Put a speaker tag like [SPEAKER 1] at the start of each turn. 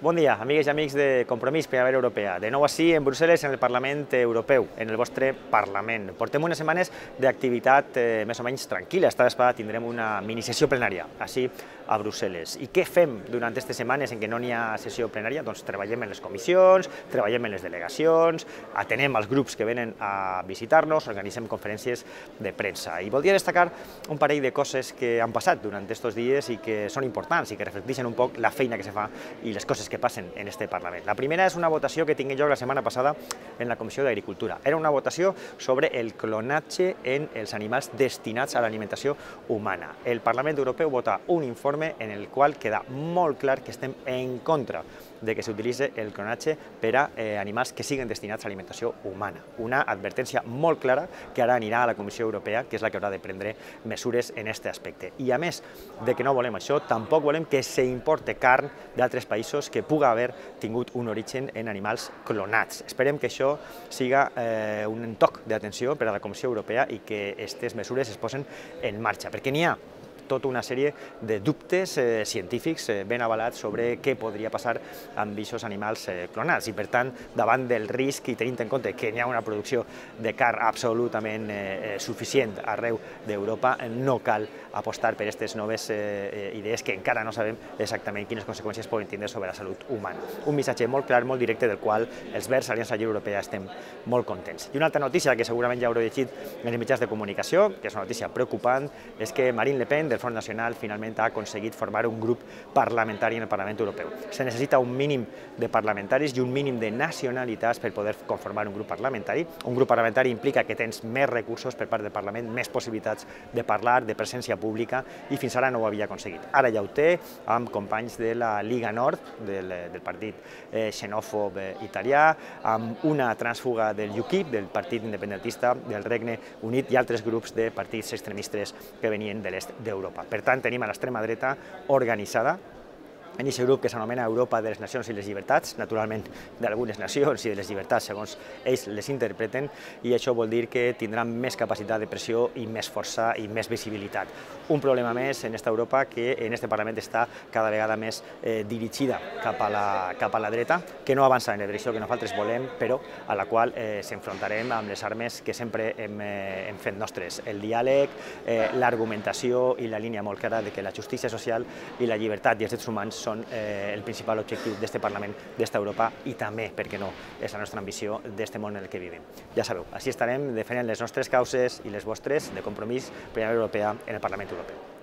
[SPEAKER 1] Bon dia, amigues i amics de Compromís Primavera Europea. De nou així en Brussel·les, en el Parlament Europeu, en el vostre Parlament. Portem unes setmanes d'activitat més o menys tranquil·la. Esta vegada tindrem una minisessió plenària, així a Brussel·les. I què fem durant aquestes setmanes en què no n'hi ha sessió plenària? Doncs treballem en les comissions, treballem en les delegacions, atenem els grups que venen a visitar-nos, organitzem conferències de premsa. I voldria destacar un parell de coses que han passat durant aquests dies i que són importants i que reflecteixen un poc la feina que se fa i les coses que passen en este Parlament. La primera és una votació que tinc jo la setmana passada en la Comissió d'Agricultura. Era una votació sobre el clonatge en els animals destinats a l'alimentació humana. El Parlament Europeu vota un informe en el qual queda molt clar que estem en contra de que s'utilitzi el clonatge per a animals que siguin destinats a alimentació humana. Una advertència molt clara que ara anirà a la Comissió Europea, que és la que haurà de prendre mesures en aquest aspecte. I a més de que no volem això, tampoc volem que s'importe carn d'altres països que pugui haver tingut un origen en animals clonats. Esperem que això siga un toc d'atenció per a la Comissió Europea i que aquestes mesures es posen en marxa, perquè n'hi ha tota una sèrie de dubtes científics ben avalats sobre què podria passar amb aquests animals clonats i, per tant, davant del risc i tenint en compte que hi ha una producció de carn absolutament suficient arreu d'Europa, no cal apostar per aquestes noves idees que encara no sabem exactament quines conseqüències poden tindre sobre la salut humana. Un missatge molt clar, molt directe, del qual els Verds, Aliança Lliure Europea, estem molt contents. I una altra notícia que segurament ja haureu llegit en els mitjans de comunicació, que és una notícia preocupant, és que Marine Le Pen, del Front Nacional, finalment ha aconseguit formar un grup parlamentari en el Parlament Europeu. Se necessita un mínim de parlamentaris i un mínim de nacionalitats per poder conformar un grup parlamentari. Un grup parlamentari implica que tens més recursos per part del Parlament, més possibilitats de parlar, de presència pública, i fins ara no ho havia aconseguit. Ara ja ho té, amb companys de la Lliga Nord, del partit xenòfob italià, amb una trànsfuga del UKIP, del partit independentista del Regne Unit, i altres grups de partits extremistes que venien de l'est d'Europa. Per tant, tenim a l'extrema dreta organitzada en aquest grup que s'anomena Europa de les Nacions i les Llibertats, naturalment d'algunes nacions i de les llibertats segons ells les interpreten, i això vol dir que tindran més capacitat de pressió i més força i més visibilitat. Un problema més en aquesta Europa que en aquest Parlament està cada vegada més dirigida cap a la dreta, que no avança en la direcció que nosaltres volem, però a la qual s'enfrontarem amb les armes que sempre hem fet nostres: el diàleg, l'argumentació i la línia molt clara de que la justícia social i la llibertat i els drets humans són el principal objectiu d'aquest Parlament, d'esta Europa, i també, per què no, és la nostra ambició d'aquest món en el que vivim. Ja sabeu, així estarem defendent les nostres causes i les vostres de Compromís Primavera Europea en el Parlament Europeu.